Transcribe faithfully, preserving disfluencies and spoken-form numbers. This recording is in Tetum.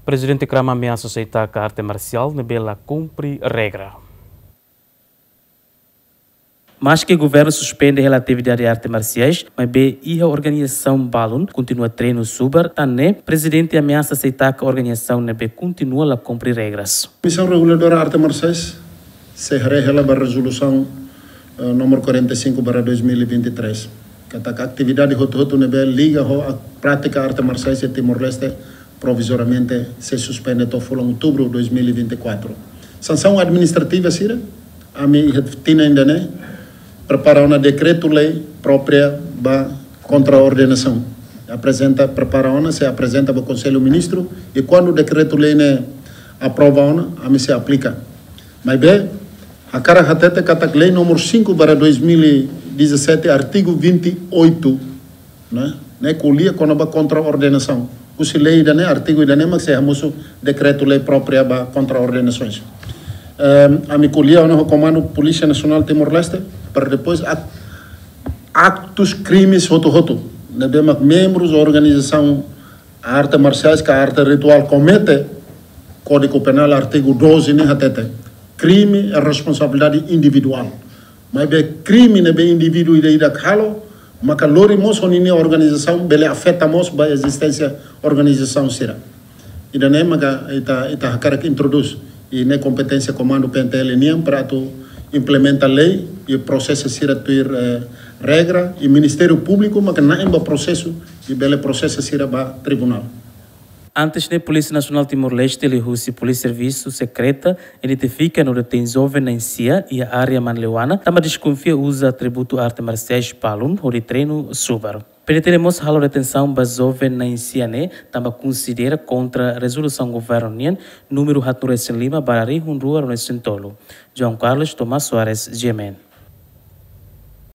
Prezidente Krama ameasa sei taka arte marsiál ne'ebé la kumpre regra. Maske governu suspende hela atividade arte marsiais, maibé iha organizasaun balun kontinua treinu subar, tan ne'e prezidente ameasa sei taka organizasaun ne'ebé kontinua la kumpre regras. Komisaun Reguladora Arte Marsiais sei haree hela ba rezolusaun, eh, númeru quarenta e cinco barra dois mil e vinte e três, katak atividade hotu-hotu ne'ebé liga ho prátika arte marsiais iha Timor-Leste provizoriamente sei suspende to'o fulan outubru dois mil e vinte e quatro. Sansaun administrativa sira, ami iha tinan ida-ne'e prepara ona dekretu-lei própria ba kontraordenasaun. Aprezenta, prepara ona, sei aprezenta ba Konsellu Ministru, i kuandu dekretu-lei ne'e aprova ona, ami sei aplika. Maibé hakarak hatete katak lei númeru cinco barra dois mil e dezassete, artigu vinte e oito, ne'e, ne'e ko'alia kona-ba kontraordenasaun. Husi lei ida-ne'e, artigu ida-ne'e mak sei hamosu dekretu-lei própria ba kontraordenasoens. Ehm, ami ko'alia ona ho Komandu Polísia Nasionál Timor-Leste, para depois ak-, aktus krimes hotu-hotu ne'ebé mak membrus organizasaun arte marsiais ka arte rituál komete, Kódigu Penál artigu doze ne'e hatete, krime é responsabilidade individuál. Maibé krime ne'ebé indivíduu ida-idak halo, maka lori mós ho ninia organizasaun, bele afeta mós ba ezisténsia organizasaun sira. Ida-ne'e maka ita, ita hakarak introdús, i ne'e kompeténsia Komandu P N T L nian para atu implementa lei i prosesa sira tuir, eh, regra, i Ministériu Públiku maka na'in ba prosesu i bele prosesa sira ba tribunál. Antes ne'e, Polísia Nasionál Timor-Leste liuhusi Polísia Servisu Sekreta identifika no detein joven na'in sia iha área Manleuana, tanba deskonfia uza atributu arte marsiais balun hodi treinu subar. P N T L mós halo detensaun ba joven na'in sia ne'e, tanba konsidera kontra rezolusaun governu nian númeru haatnulu-resin-lima barra rihun rua ruanulu-resin-tolu. João Carlos, Tomás Soares, G M N.